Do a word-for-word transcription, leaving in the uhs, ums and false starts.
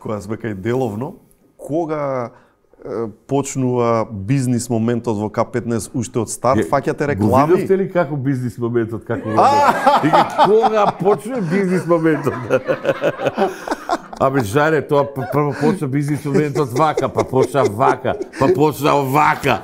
која сме кај деловно, кога е, почнува бизнис моментот во К петнаесет уште од старт, фаќате реклами? Го видовте ли како бизнис моментот, како го Вика, кога почне бизнис моментот? Абе, жаре, тоа прво почна бизнис моментот вака, па почна вака, па почна вака.